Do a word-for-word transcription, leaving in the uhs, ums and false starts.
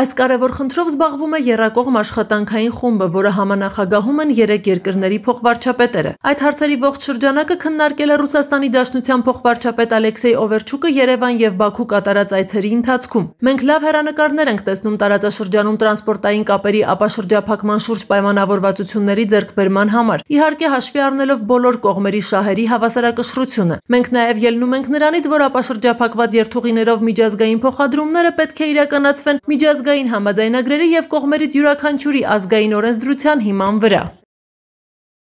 Այս կարևոր խնդրով զբաղվում է եռակողմ աշխատանքային խումբը, որը համանախագահում են երեք երկրների փոխվարչապետերը։ Այդ հարցերի ողջ շրջանակը քննարկել է Ռուսաստանի Դաշնության փոխվարչապետ Ալեքսեյ Օվերչուկը Երևան եւ Բաքու կատարած այցերի ընթացքում։ Մենք լավ հեռանկարներ ենք տեսնում տարածաշրջանում տրանսպորտային կապերի ապաշրջափակման շուրջ պայմանավորվածությունների ձեռքբերման համար, իհարկե հաշվի առնելով բոլոր կողմերի շահերի հավասարակշռությունը։ Մենք նաեւ ելնում ենք նրանից, որ ապաշրջափակված երթուղիներով միջազգային փոխադրումները պետք է իրականացվեն միջազգային համաձայնագրերի եւ կողմերից յուրաքանչյուրի ազգային օրենսդրության հիման վրա։